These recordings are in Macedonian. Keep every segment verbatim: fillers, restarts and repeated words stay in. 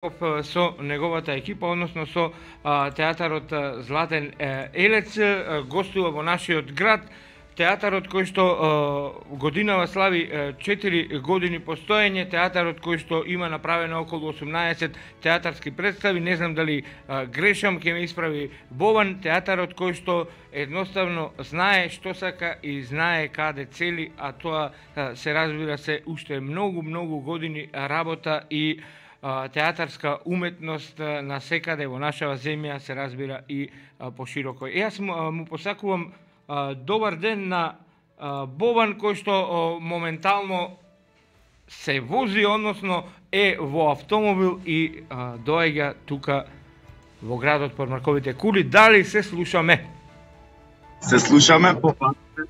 со неговата екипа, односно со а, театарот Златен елец, гостува во нашиот град. Театарот кој што а, годинава слави четири години постоење, театарот кој што има направено околу осумнаесет театарски представи, не знам дали а, грешам, ќе ме исправи Бован, театарот кој што едноставно знае што сака и знае каде цели, а тоа а, се разбира се уште многу, многу години работа и театарска уметност на секаде во нашава земја се разбира и пошироко. И јас му, му посакувам добар ден на Бован кој што моментално се вози, односно е во автомобил и доаѓа тука во градот под Марковите кули. Дали се слушаме? Се слушаме по патите.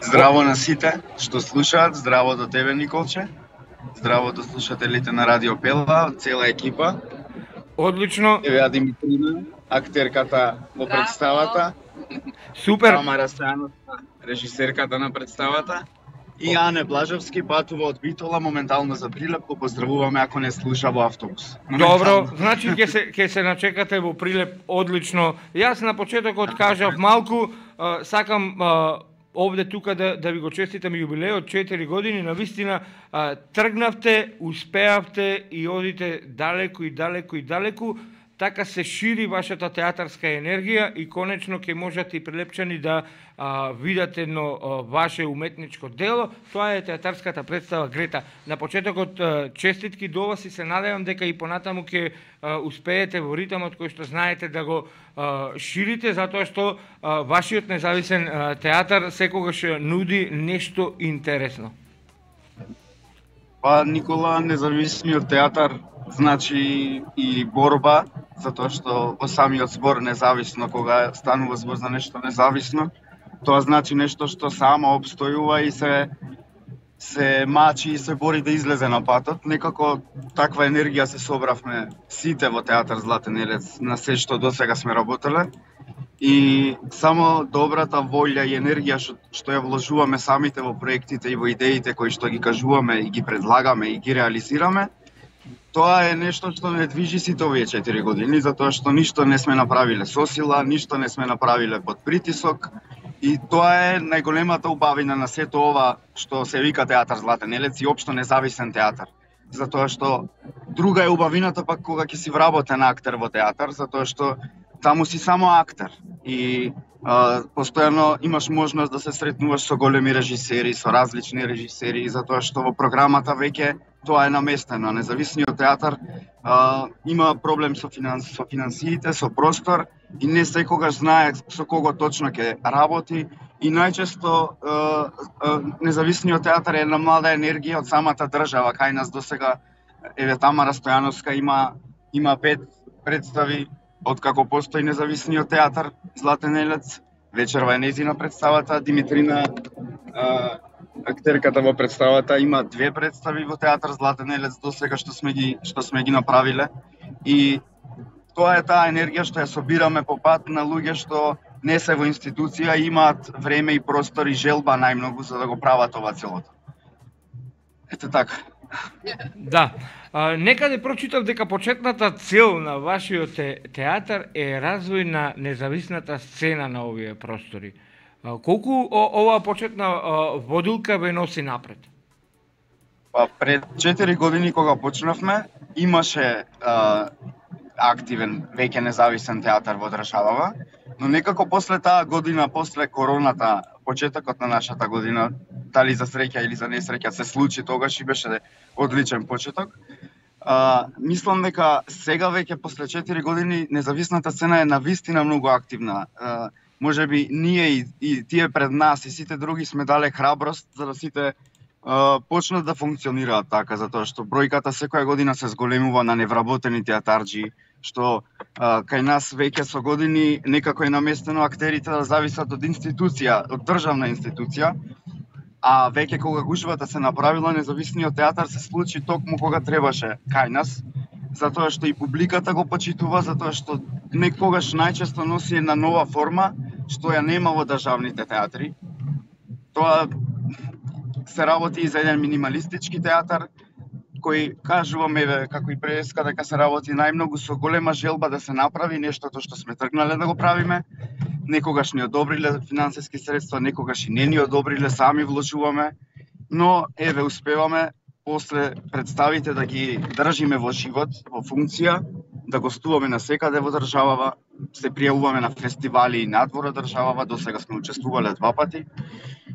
Здраво на сите што слушаат, здраво до тебе, Николче. Здраво до слушателите на Радио Пела, цела екипа. Одлично. Еве Димитрина, актерката во представата. Супер. Тамара Стојановска, режисерката на представата. И Ане Блажевски патува од Битола моментално за Прилеп, го поздравуваме ако не слуша во автобус. Добро, значи ќе се ќе се начекате во Прилеп, одлично. Јас на почетокот кажав малку, а, сакам а, овде тука да, да ви го честитам јубилеот, четири години, навистина а, тргнавте, успеавте и одите далеку и далеку и далеку, така се шири вашата театарска енергија и конечно ќе можете и прилепчани да а, видите едно а, ваше уметничко дело. Тоа е театарската представа Грета. На почетокот а, честитки до вас и се надевам дека и понатаму ќе а, успеете во ритмот кој што знаете да го а, ширите, затоа што а, вашиот независен а, театар секогаш нуди нешто интересно. Па, Никола, независниот театар значи и борба, затоа што во самиот збор независно, кога станува збор за нешто независно, тоа значи нешто што само обстојува и се се мачи и се бори да излезе на патот. Некако таква енергија се собравме сите во театар Златен елец на се што досега сме работеле. И само добрата волја и енергија што, што ја вложуваме самите во проектите и во идеите кои што ги кажуваме и ги предлагаме и ги реализираме, тоа е нешто што не движи сите овие четири години, затоа што ништо не сме направиле со сила, ништо не сме направиле под притисок. И тоа е најголемата убавина на сето ова што се вика театар Златен елец и општо независен театар. Затоа што друга е убавината пак кога ќе си вработен актер во театар, затоа што таму си само актер и а, постојано имаш можност да се сретнуваш со големи режисери, со различни режисери, затоа што во програмата веќе тоа е наместено. Независниот театар а, има проблем со, финанс, со финансиите, со простор и не секогаш знае со кого точно ќе работи и најчесто а, а, независниот театар е една млада енергија од самата држава. Кај нас досега еве Тамара Стојановска има има пет представи откако постои независниот театар Златен елец. Вечерва е незина представата, Димитрина а, актерката во представата има две представи во театар Златен елец досега што сме ги што сме ги направиле и тоа е таа енергија што ја собираме по пат на луѓе што не се во институција и имаат време и простор и желба најмногу за да го прават ова целото. Ете така. Да. А, некаде прочитав дека почетната цел на вашиот театар е развој на независната сцена на овие простори. А, колку о, оваа почетна а, водилка ве носи напред? Па пред четири години кога почнавме, имаше а, активен веќе независен театар во државава, но некако после таа година, после короната, почетокот на нашата година, дали за среќа или за несреќа се случи тогаш и беше одличен почеток. А, мислам дека сега веќе после четири години независната сцена е навистина многу активна. А, можеби ние и, и тие пред нас и сите други сме дале храброст за да сите а, почнат да функционираат така, затоа што бројката секоја година се зголемува на невработени театарџи, што а, кај нас веќе со години некако е наместено актерите да зависат од институција, од државна институција, а веќе кога гужвата се направила, независниот театар се случи токму кога требаше кај нас, затоа што и публиката го почитува, затоа што некогаш најчесто носи една нова форма, што ја нема во државните театри. Тоа се работи и за еден минималистички театар, кој кажуваме, еве, како и преска, дека се работи најмногу со голема желба да се направи нештото што сме тргнале да го правиме. Некогаш ни одобриле финансиски средства, некогаш и не ни одобриле, сами вложуваме, но еве успеваме после представите да ги држиме во живот, во функција, да гостуваме на секаде во државава, се пријавуваме на фестивали и надвор од државава, до сега сме учествувале два пати.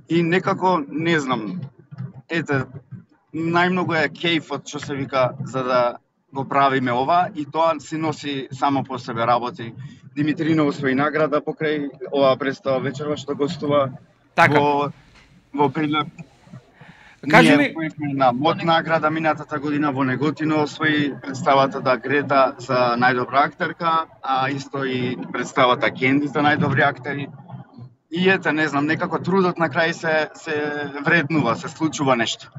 И некако, не знам, ете, најмногу е кејфот, што се вика, за да го правиме ова, и тоа си носи само по себе работи. Димитрино освои награда покрај оваа представа вечерва што гостува така. во во Прилеп. Кажи ми, Ние на МОД награда минатата година во Неготино освои представата да Грета за најдобра актерка, а исто и представата Кенди за најдобри актери. И ете, не знам, некако трудот на крај се се вреднува, се случува нешто.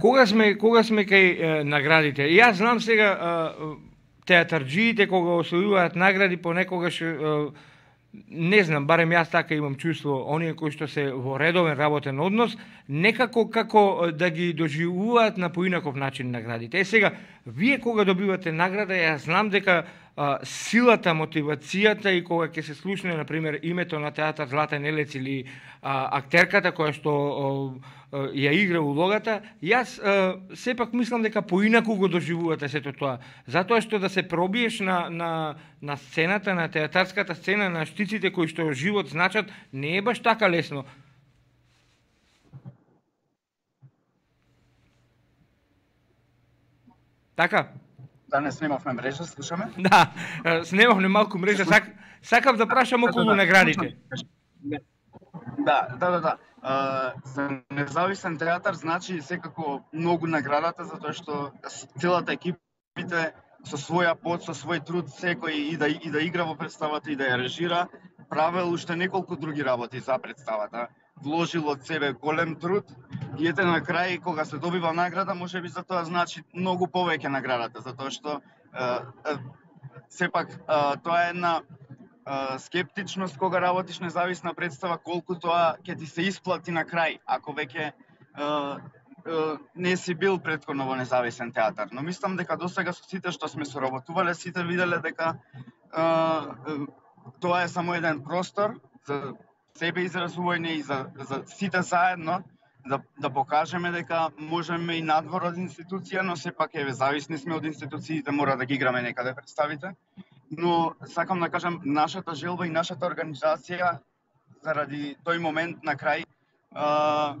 Кога сме кога сме кај е, наградите? Јас знам сега е, театарџиите кога освојуваат награди понекогаш е, не знам, барем јас така имам чувство, оние кои што се во редовен работен однос, некако како да ги доживуваат на поинаков начин наградите. Е сега, вие кога добивате награда, јас знам дека а, силата, мотивацијата и кога ќе се слушне, например, името на театар Златен елец или а, актерката која што а, ја игра улогата, јас а, сепак мислам дека поинаку го доживувате сето тоа. Затоа што да се пробиеш на, на, на сцената, на театарската сцена, на штиците кои што живот значат, не е баш така лесно. Така? Да не снимавме мрежа, слушаме? Да, снимавме малку мрежа, сак, сакав да прашам околу да, да, наградите. Да, да, да, да. А, за независен театар значи секако многу наградата, затоа што целата екипите со своја пот, со свој труд, секој и да, и да игра во представата и да ја режира, правел уште неколку други работи за представата. Вложил од себе голем труд и ете на крај, кога се добива награда, може би за тоа значи многу повеќе наградата, затоа што е, е, сепак е, тоа е една е, скептичност кога работиш независна представа, колку тоа ќе ти се исплати на крај, ако веќе е, е, не си бил претходно во независен театар. Но мислам дека досега со сите што сме соработувале, сите виделе дека е, е, тоа е само еден простор за себе изразување и за, за сите заедно да, да покажеме дека можеме и надвор од институција, но сепак еве зависни сме од институциите, мора да ги играме некаде представите. Но сакам да кажам, нашата желба и нашата организација заради тој момент на крај а,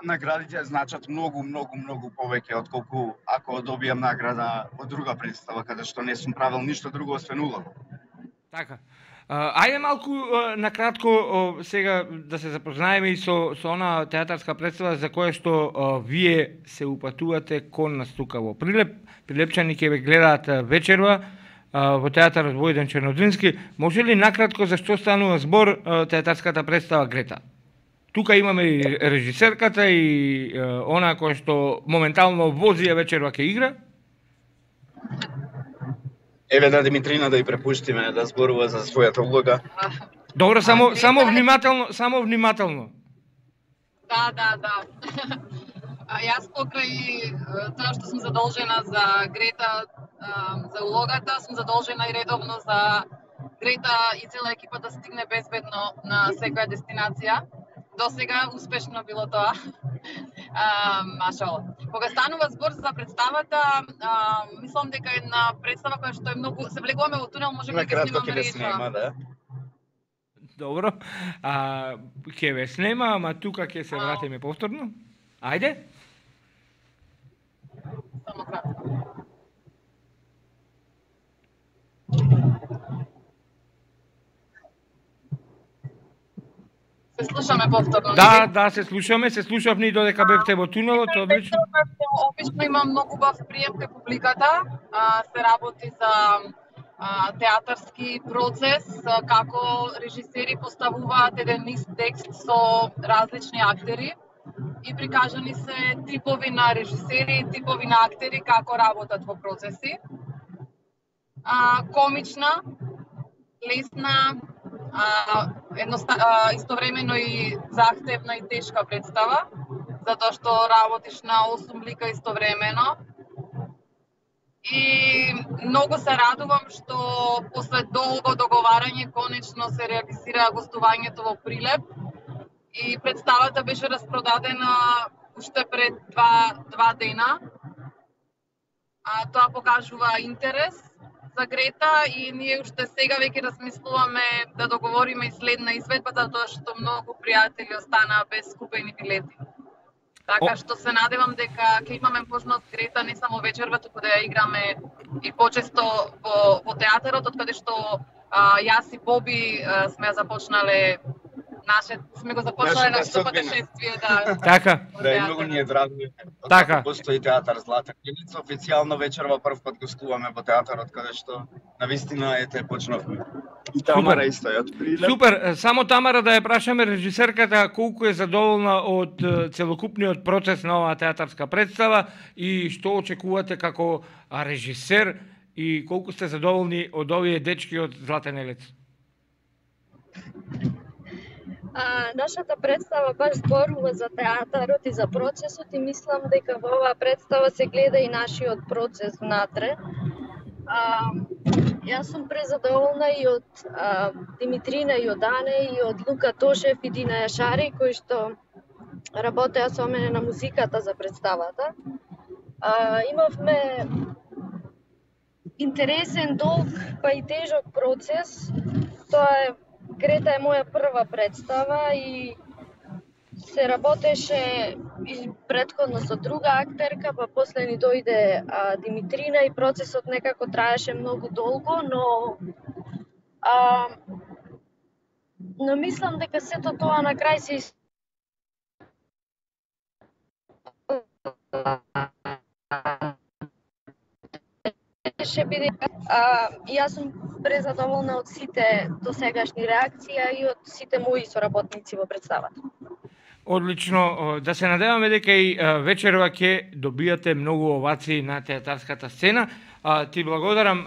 наградите значат многу, многу, многу повеќе отколку ако добијам награда од друга представа каде што не сум правил ништо друго освен улога. Така. Ајде малку на кратко сега да се запознаеме и со со она театарска представа за која што а, вие се упатувате кон нас тука во Прилеп. Прилепчани ќе ве гледаат вечерва а, во театарот Војден Чернодрински. Може ли накратко за што станува збор а, театарската представа Грета? Тука имаме и режисерката и а, она која што моментално вози ја вечерва ќе игра. Еве да Димитрина да ја препуштиме да зборува за својата улога. Добро, само само внимателно, само внимателно. Да, да, да. А јас покрај тоа што сум задолжена за Грета, за улогата, сум задолжена и редовно за Грета и цела екипа да стигне безбедно на секоја дестинација. До сега успешно било тоа. А, машала. Кога станува збор за представата, а, мислам дека една представа која што е многу се влегуваме во тунел, може би ќе снимаме реча. Снема, да. Добро. А ќе ве снема, ама тука ќе се вратиме повторно. Ајде. Само кратко. Се слушаме повторно. Да, да, се слушаме, се слушавме и додека бевте во тунелот, одлично. Обично има многу бав прием кај публиката, а, се работи за а, театарски процес, а, како режисери поставуваат еден ист текст со различни актери и прикажани се типови на режисери и типови на актери како работат во процеси. А, комична, лесна, а, едноста, а, истовремено и захтевна и тешка представа, затоа што работиш на осум лика истовремено. И многу се радувам што после долго договарање конечно се реализира гостувањето во Прилеп и представата беше распродадена уште пред два, два дена. А, тоа покажува интерес за Грета и ние уште сега веќе размислуваме да договориме и следна изведба, затоа што многу пријатели останаа без купени билети. Така што се надевам дека ќе имаме можност Грета не само вечерва, туку да ја играме и почесто во, во театарот, од каде што а, јас и Боби а, сме ја започнале наше сме го започнале нашето патешествие, да. Така. Да, и многу ни е драго. Така. Постои театар Злата Илица, официјално вечерва прв пат гостуваме во театарот каде што навистина ете почнавме. И Тамара исто е од Прилеп. Супер, само Тамара да ја прашаме режисерката колку е задоволна од целокупниот процес на оваа театарска представа и што очекувате како режисер и колку сте задоволни од овие дечки од Златен елец? А, нашата представа баш зборува за театарот и за процесот и мислам дека во оваа представа се гледа и нашиот процес внатре. А, јас сум презадоволна и од а, Димитрина Јодане и од Лука Тошев и Дина Јашари кои што работеа со мене на музиката за представата. А, имавме интересен, долг, па и тежок процес. Тоа е Грета е моја прва представа и се работеше и претходно со друга актерка, па после ни дојде а, Димитрина и процесот некако траеше многу долго, но а, но мислам дека сето тоа на крај се ше биде а, јас сум презадоволна од сите досегашни реакции и од сите мои соработници во представата. Одлично, да се надеваме дека и вечерва ќе добијате многу овации на театарската сцена. Ти благодарам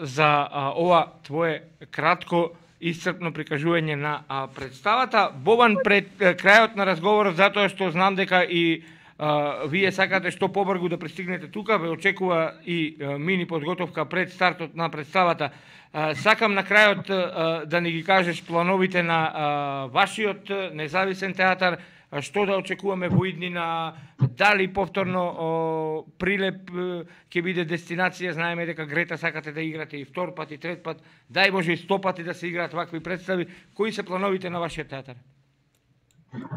за ова твое кратко исцрпно прикажување на представата. Бобан, пред крајот на разговорот, затоа што знам дека и Uh, вие сакате што побрзо да пристигнете тука, ве очекува и uh, мини подготовка пред стартот на представата. Uh, сакам на крајот uh, да ни ги кажеш плановите на uh, вашиот независен театар, uh, што да очекуваме во иднина, дали повторно uh, Прилеп uh, ќе биде дестинација, знаеме дека Грета сакате да играте и втор пат и трет пат, дај Боже и сто пати да се играат вакви представи. Кои се плановите на вашиот театар?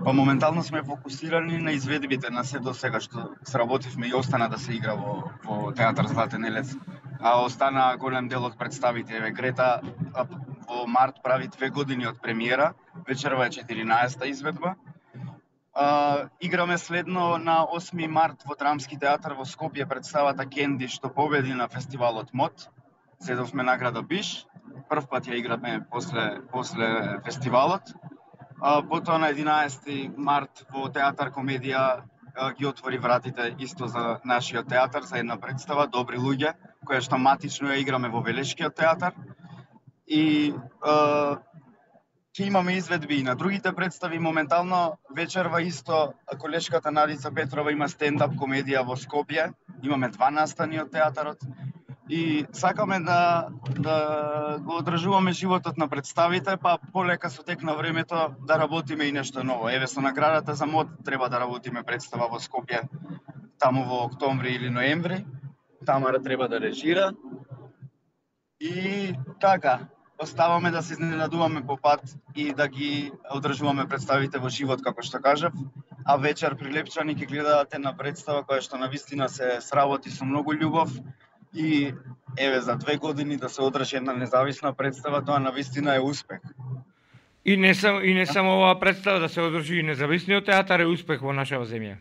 Па моментално сме фокусирани на изведбите на се до сега што сработивме и остана да се игра во, во театар Златен елец. А остана голем дел од представите. Еве Грета во март прави две години од премиера, вечерва е четиринаесета изведба. А, играме следно на осми март во Драмски театар во Скопје представата Кенди што победи на фестивалот МОД. Зедовме награда Биш. Прв пат ја играме после после фестивалот. А, потоа на единаесети март во Театар Комедија а, ги отвори вратите исто за нашиот театар за една представа Добри луѓе, која што матично ја играме во Велешкиот театар. И а, ќе имаме изведби и на другите представи. Моментално вечерва исто колешката Надица Петрова има стендап комедија во Скопје. Имаме два настани од театарот. И сакаме да, да го одржуваме животот на представите, па полека со тек на времето да работиме и нешто ново. Еве со наградата за МОД треба да работиме представа во Скопје таму во октомври или ноември. Тамара треба да режира. И така, оставаме да се изненадуваме по пат и да ги одржуваме представите во живот, како што кажав. А вечер прилепчани ќе гледате на представа која што навистина се сработи со многу љубов. И еве за две години да се одржи една независна представа, тоа навистина е успех. И не само и не само оваа представа да се одржи и независниот театар е успех во нашава земја.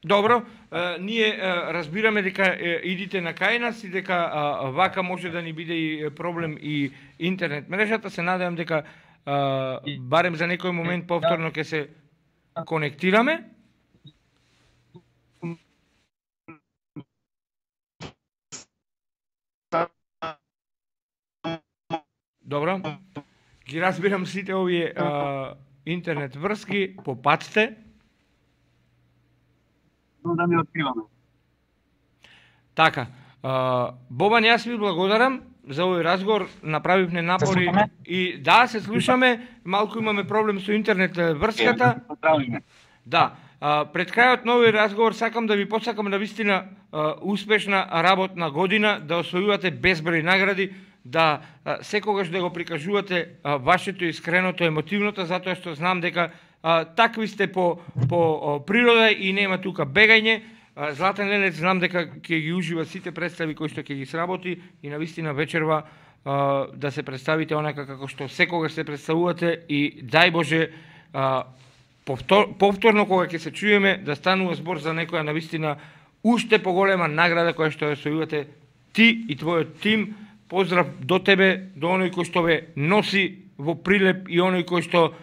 Добро, е, ние е, разбираме дека е, идите на кај нас и дека е, вака може да ни биде и проблем и интернет мрежата. Се надевам дека е, барем за некој момент повторно ќе се конектираме. Добро. Ги разбирам сите овие а, интернет врски, попатste. не откриваме. Така, а, Бобан, јас ви благодарам за овој разговор, направивме напори и да, се слушаме, малку имаме проблем со интернет врската. Поздравиме. Да, а, пред крајот на овој разговор сакам да ви посакам на вистина а, успешна работна година, да освојувате безброј награди, да а, секогаш да го прикажувате а, вашето искреното, емотивното, затоа што знам дека а, такви сте по, по а, природа и нема тука бегање. А, Златен Лелец знам дека ќе ги ужива сите представи кои што ќе ги сработи и на вистина вечерва а, да се представите онака како што секогаш се представувате и дај Боже а, повтор, повторно кога ќе се чуеме да станува збор за некоја на вистина уште поголема награда која што ја освојувате ти и твојот тим. Поздрав до тебе, до оној кој што ве носи во прилеп и оној кој што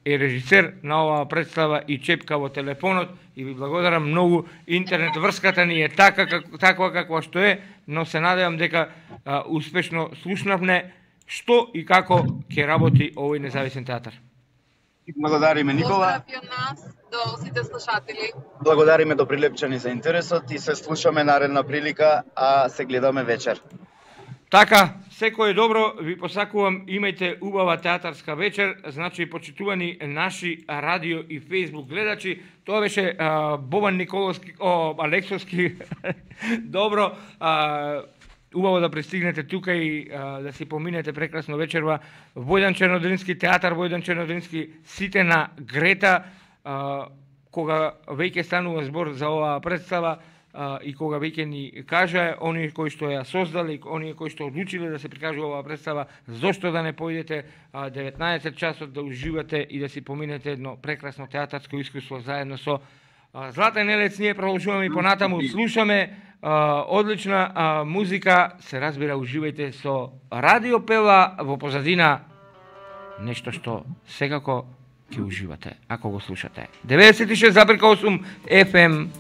е режисер на оваа представа и чепка во телефонот и ви благодарам многу. Интернет врската ни е така как, таква каква што е, но се надевам дека а, успешно слушнавме што и како ќе работи овој независен театар. Благодариме, Никола. Поздрав и од нас до сите слушатели. Благодариме до Прилепчани за интересот и се слушаме наредна прилика, а се гледаме вечер. Така, секој добро, ви посакувам, имајте убава театарска вечер, значи почитувани наши радио и фейсбук гледачи. Тоа беше а, Бобан Николовски, о, Алексовски, добро, а, убаво да пристигнете тука и а, да си поминете прекрасно вечерва. Војдан Чернодрински театар, Војдан Чернодрински, сите на Грета, а, кога веќе станува збор за оваа представа, Uh, и кога веќе ни кажа оние кои што ја создали, оние кои што одлучиле да се прикажува оваа представа, зошто да не поидете uh, деветнаесет часот да уживате и да си поминете едно прекрасно театарско искуство заедно со uh, Златен Лелец. Ние продолжуваме и понатаму, слушаме uh, одлична uh, музика, се разбира, уживајте со Радио Пела во позадина, нешто што секако ќе уживате ако го слушате. деветдесет и шест зарез осум еф ем